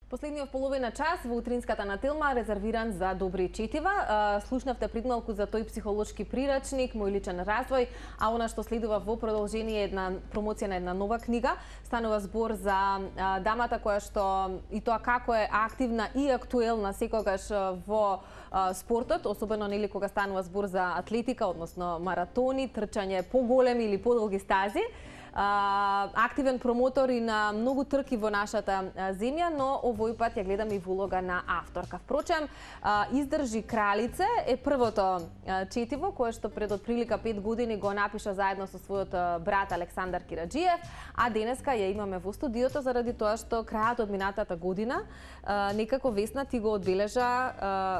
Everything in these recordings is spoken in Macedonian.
Последниот половина час во утринската на Телма резервиран за добри четива. Слушнавте придмалку за тој психолошки прирачник, мој личен развој, а она што следува во продолжение е една промоција на една нова книга. Станува збор за дамата која што и тоа како е активна и актуелна секогаш во спортот, особено нели кога станува збор за атлетика, односно маратони, трчање поголеми или подолги стази. Активен промотор и на многу трки во нашата земја, но овој пат ја гледам и во улога на авторка. Впрочем, Издржи кралице е првото четиво кое што пред отприлика 5 години го напиша заедно со својот брат Александар Кираџиев, а денеска ја имаме во студиото заради тоа што крајот од минатата година некако Весна ти го одбележа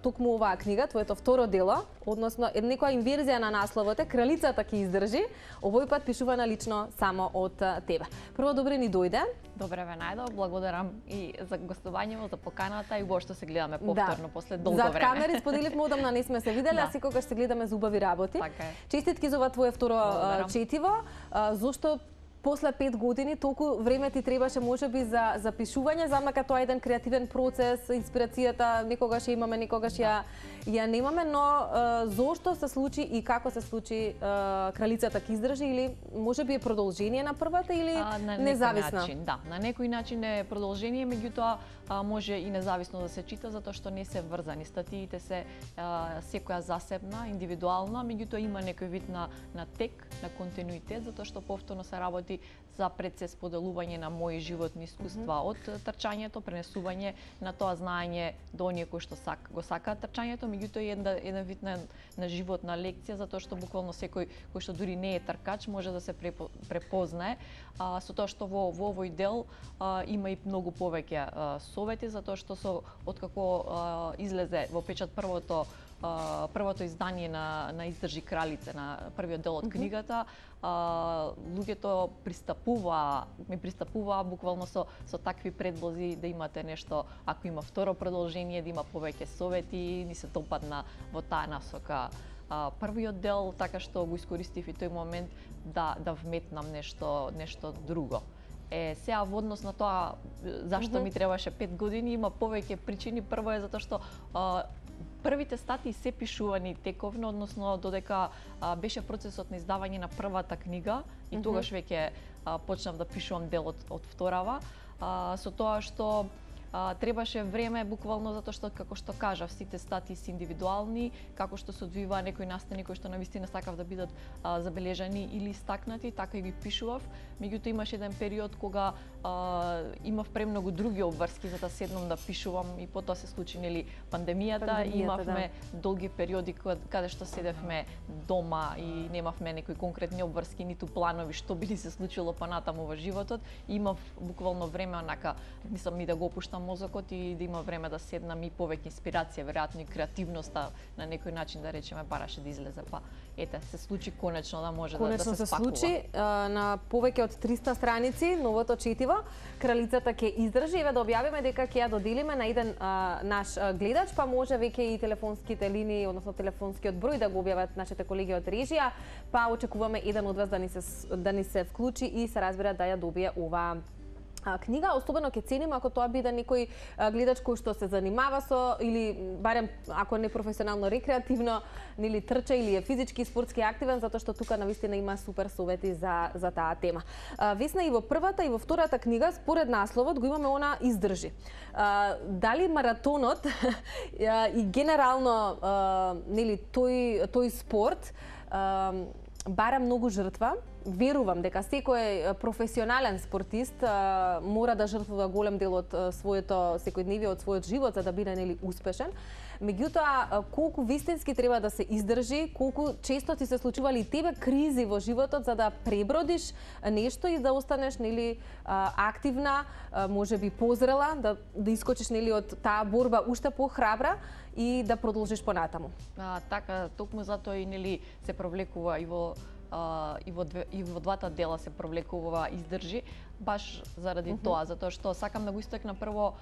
токму оваа книга, твоето второ дело, односно некоја инверзија на насловот е Кралицата ќе издржи, овој пат пишувана лично само од тебе. Прво, добре ни дојде. Добре ве најдов, благодарам и за гостувањето, за поканата и воопшто се гледаме повторно после долго време. За камери споделивме одамна не сме се виделе, а секогаш се гледаме за убави работи. Така е. Честитки за ова твое второ четиво. Зошто после 5 години толку време ти требаше можеби за пишување, замака тоа е еден креативен процес, инспирацијата некогаш ја имаме, некогаш ја немаме, но зошто се случи и како се случи Кралицата ќе издржи, или можеби е продолжение на првата или независна? На некој начин е продолжение, меѓутоа може и независно да се чита затоа што не се врзани. Статиите се секоја засебна, индивидуална, меѓутоа има некој вид на тек, на континуитет, затоа што повторно се работи за процес поделување на мои животни искуства од трчањето, пренесување на тоа знаење до оние кои што го сакаат трчањето, меѓутоа еден вид на животна лекција, затоа што буквално секој кој што дури не е тркач може да се препознае со тоа што во овој дел има и многу повеќе совети, затоа што откако излезе во печат првото издание на Издржи кралице, на првиот дел од книгата, луѓето ми пристапуваа буквално со такви предлози да имате нешто, ако има второ продолжение, да има повеќе совети, ни се допадна во таа насока првиот дел, така што го искористив и тој момент да вметнам нешто друго. Сега во однос на тоа зашто ми требаше 5 години, има повеќе причини. Прво е затоа што првите статии се пишувани тековно, односно додека беше процесот на издавање на првата книга и тогаш веќе почнав да пишувам дел од вторава, со тоа што требаше време буквално затоа што, како што кажав, сите статии се индивидуални, како што се одвива некои настани кои што навистина сакав да бидат забележани или истакнати, така и ги пишував. Меѓутоа имаше еден период кога имав премногу други обврски за да седнам да пишувам и потоа се случи пандемијата, имавме долги периоди каде што седевме дома и немавме некои конкретни обврски, ниту планови што би ни се случило понатаму во животот. Имав буквално време онака, мислам и да го опуштам мозокот и да има време да седнам и повеќе инспирација, веројатно и креативноста на некој начин да речеме бараше да излезе, па ете се случи конечно да може да се спакува. Се случи на повеќе од 300 страници новото четиво Кралицата ќе издржи. Еве да објавиме дека ќе ја доделиме на еден наш гледач, па може веќе и телефонските линии, односно телефонскиот број да го објават нашите колеги од режија, па очекуваме еден од вас да ни се вклучи и се разбира да ја добие оваа книга. Особено ќе ценим ако тоа биде некој гледач кој што се занимава со, или барем ако не професионално, рекреативно, нели трча или е физички и спортски активен, затоа што тука навистина има супер совети за таа тема. Весна, и во првата и во втората книга според насловот го имаме она издржи. Дали маратонот и генерално нели тој спорт бара многу жртва? Верувам дека секој професионален спортист мора да жртвува голем дел од своето секојдневие, од својот живот за да биде нели успешен. Меѓутоа, колку вистински треба да се издржи, колку често ти се случували и тебе кризи во животот за да пребродиш нешто и да останеш нели активна, можеби позрела, да искочиш нели од таа борба уште похрабра и да продолжиш понатаму. Така, токму затоа и нели се провлекува и во двата дела се провлекува издржи, баш заради тоа, затоа што сакам да го истакна прво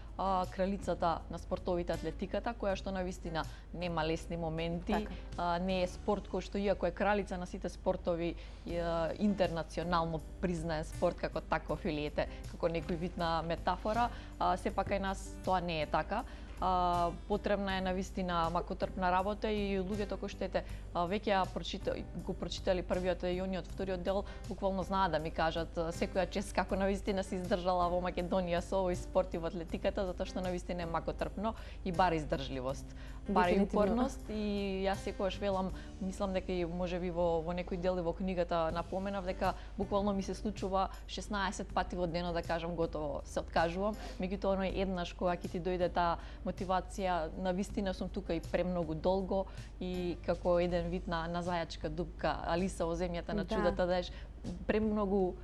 кралицата на спортовите атлетиката, која што навистина нема лесни моменти, не е спорт кој што иако е кралица на сите спортови, интернационално признаен спорт како таков или како некој вид на метафора, сепак кај нас тоа не е така. Потребна е навистина макотрпна работа и луѓето кои што веќе го прочитали првиот и ониот вториот дел, буквално знаат да ми кажат секоја чест како навистина се издржала во Македонија со овој спорт и во атлетиката, затоа што навистина е макотрпно и бара издржливост, бара и упорност. И јас секогаш велам, мислам дека и можеби во некој дел и во книгата напоменав дека буквално ми се случува 16 пати во денот да кажам готово се откажувам, меѓутоа оној еднаш кога ќе ти дојде таа мотивација, навистина сум тука и премногу долго и како еден вид на зајачка дупка, Алиса во земјата на чудата, да еш премногу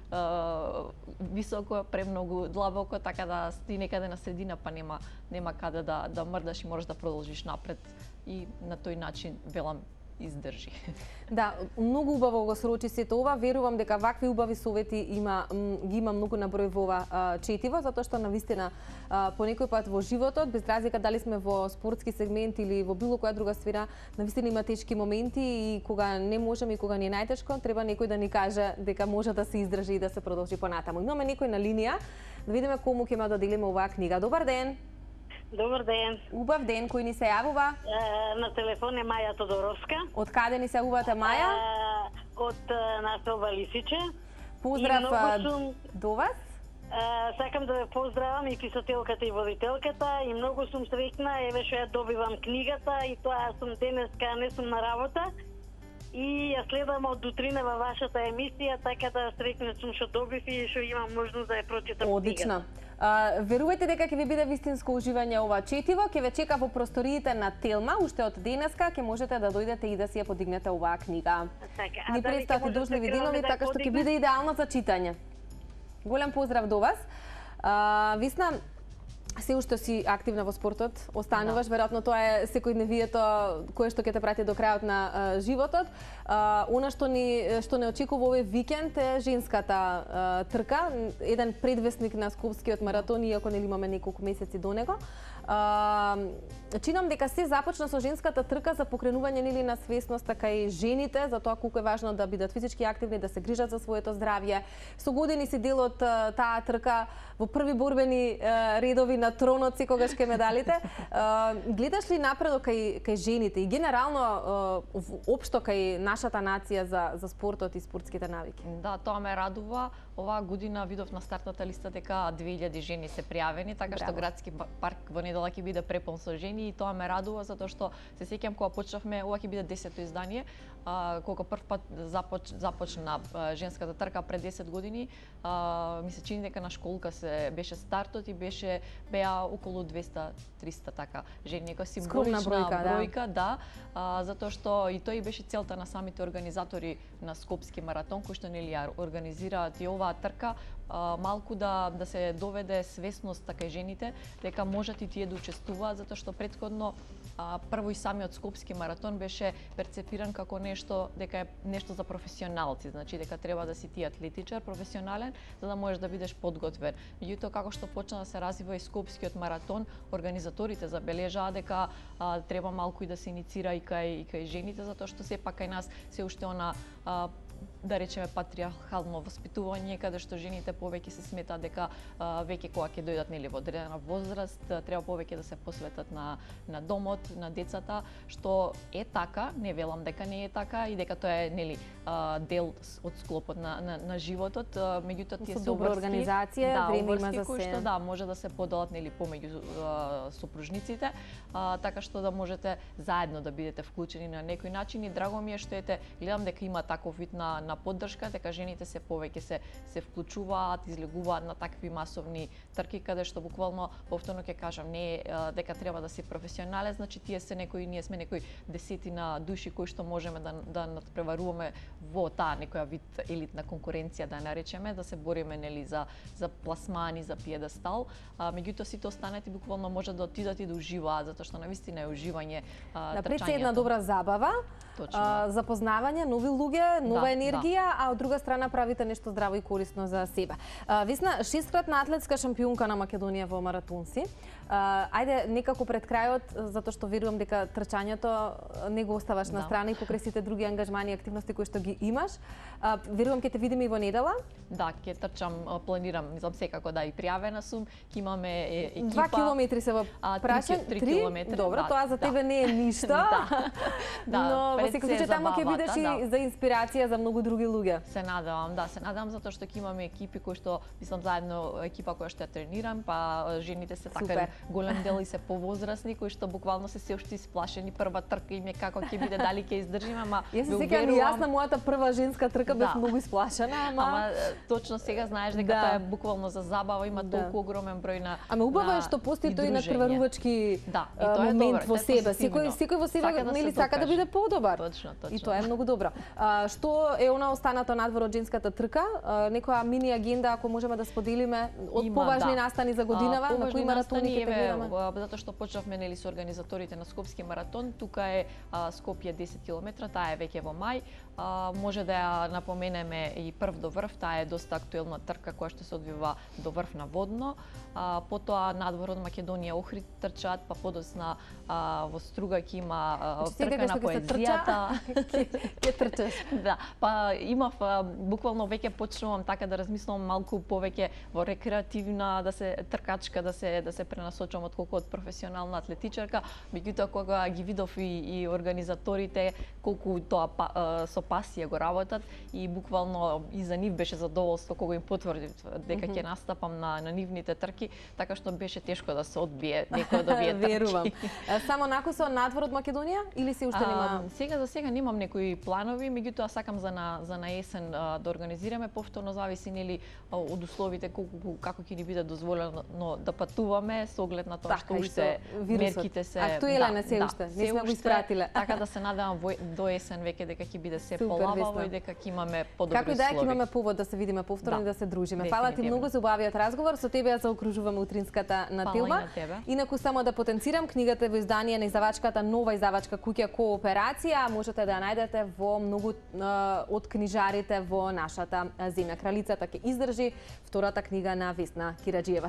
високо, премногу длабоко, така да ти некаде на средина па нема каде да мрдаш и можеш да продолжиш напред и на тој начин велам издржи. Да, многу убаво го срочи сето ова. Верувам дека вакви убави совети ги има многу на број во ова четиво, затоа што навистина по некој пат во животот, без разлика дали сме во спортски сегмент или во било која друга сфера, навистина има тешки моменти и кога не можеме и кога ни е најтешко, треба некој да ни каже дека може да се издржи и да се продолжи понатаму. Имаме некој на линија, да видиме кому ќе да делиме оваа книга. Добар ден. Добар ден. Убав ден, кој ни се јавува? На телефон е Маја Тодоровска. Од каде ни се јавувате, Маја? Од населба Лисиче. Поздрав до вас. Сакам да ве поздравам и писателката и водителката и многу сум среќна, еве што ја добивам книгата и тоа сум денеска не сум на работа и ја следам од утрина во вашата емисија, така да среќна сум што добив и што имам можност да ја прочитам книгата. Одлично. Верувате дека ќе ви биде вистинско уживање ова четиво, ќе ве чека во просториите на Телма, уште од денеска ќе можете да дојдете и да си ја подигнете оваа книга. Така, Ни предстојат дожливи денови, така што ќе биде идеално за читање. Голем поздрав до вас. Висна, се уште си активна во спортот, остануваш, веројатно тоа е секојдневието кое што ќе те прати до крајот на животот. Она што не очекува овој викенд е женската трка, еден предвесник на Скопскиот маратон, иако нели имаме неколку месеци до него. Чинам дека се започна со женската трка за покренување нели на свесност така и жените за тоа колку е важно да бидат физички активни, да се грижат за своето здравје. Со години си дел од таа трка во први борбени редови на тронот секогаш кај медалите. Гледаш ли напредок кај жените и генерално општо кај нашата нација за спортот и спортските навики? Да, тоа ме радува. Оваа година видов на стартната листа дека 2000 жени се пријавени, така што градски парк во недела ќе биде препон со жени и тоа ме радува затоа што се сеќам кога почнавме, ова ќе биде 10-то издание, кога прв пат започна женската трка пред 10 години, ми се чини дека на школка беше стартот и беа околу 200-300 така жени, нека символична бројка, да, затоа што и тој беше целта на самите организатори на Скопски маратон, кои што нели ја организираат и оваа трка, малку да се доведе свесност така и жените дека можат и тие да учествуваат, затоа што претходно прво и самиот Скопски маратон беше перцепиран како нешто дека е нешто за професионалци, значи дека треба да си ти атлетичар професионален за да можеш да бидеш подготвен. Меѓутоа како што почна да се развива и Скопскиот маратон, организаторите забележаа дека треба малку и да се иницира и кај жените, затоа што сепак кај нас се уште она да речеме патриархално воспитување, каде што жените повеќе се сметаат дека веќе кога ќе дојдат нели во одредена возраст, треба повеќе да се посветат на домот, на децата, што е така, не велам дека не е така и дека тоа е нели дел од склопот на животот, меѓутоа тие се добра организација, време има за кои што може да се поделат нели помеѓу сопружниците, така што да можете заедно да бидете вклучени на некој начин и драго ми е што гледам дека има таков вид на поддршка, дека жените се повеќе се вклучуваат, излегуваат на такви масовни трки каде што буквално повторно ќе кажам не дека треба да си професионален, значи ние сме некои десетина души кои што можеме да надпреваруваме во таа некоја вид елитна конкуренција да наречеме, да се бориме нели за пласмани, за пиедестал, меѓутоа сите останати буквално може да отидат и да уживаат, затоа што навистина е уживање трчањето. Да, пред се една добра забава. Точно. Запознавање, нови луѓе, нова Да, енергија, а од друга страна правите нешто здраво и корисно за себе. Весна, 6-кратна атлетска шампионка на Македонија во маратонси. Ајде некако пред крајот, затоа што верувам дека трчањето не го оставаш на страна и покрај сите други ангажмани и активности кои што ги имаш. Верувам ќе те видиме и во недела. Да, ќе трчам, планирам, мислам секако да и пријавена сум, ќе имаме екипа. 2 километри се во прашање, 3 километри. Добро, тоа за тебе не е ништо. Но во секој случај таму ќе бидеш и за инспирација за многу други луѓе. Се надевам, да, се надевам затоа што ќе имаме екипи кои што мислам заедно екипа која што ја тренирам, па жените се така голем дел и се повозрасни кои што буквално се уште исплашени, прва трка им е како ќе биде, дали ќе издржиме, ама јас се сеќавам и јас на мојата прва женска трка бев многу исплашена, ама точно сега знаеш дека тоа е буквално за забава, има толку огромен број на. Ама убаво е што постои тој надпреварувачки момент во себе. Секој во себе нели сака да биде подобар. Точно. И тоа е многу добро. Што е она останато надвор од женската трка? Некоја мини агенда ако можеме да споделиме од поважни настани за годинава, на кои маратони ќе те гледаме? Затоа што почнавме нели со организаторите на Скопски маратон, тука е Скопје 10 км, таа е веќе во мај. Може да ја напоменеме и прв до врв, таа е доста актуелна трка која што се одвива до врв на водно. Потоа надвор од Македонија Охрид трчаат, па подосна во Струга ќе има трка на поезијата. Ќе трчаш. Да, па имав буквално веќе почнувам така да размислувам малку повеќе во рекреативна, да се тркачка, да се пренасочам отколку од професионална атлетичарка. Меѓутоа кога ги видов и организаторите колку тоа со пасија го работат и буквално и за нив беше задоволство кога им потврдив дека ќе настапам на нивните трки, така што беше тешко да се одбие некој од овие трки. Верувам. Само накусо надвор од Македонија или се уште нема? Сега за сега немам некои планови, меѓутоа сакам за на есен да организираме, повторно зависи нели од условите како ќе ни биде дозволено да патуваме со оглед на тоа што уште мерките се актуелен е се уште, не сме го испратиле. Така да се надевам до есен веќе дека ќе биде се полабаво и дека ќе имаме подобри услови. Како и да ќе имаме повод да се видиме повторно и да се дружиме. Фала ти многу за убавиот разговор, со тебе ја заокружуваме утринската на Тилма. Инаку само да потенцирам, книгата во издание на издавачката Нова издавачка куќа Кооперација, можете да ја најдете во многу од книжарите во нашата земја. Кралицата ќе издржи, втората книга на Весна Кираџиева.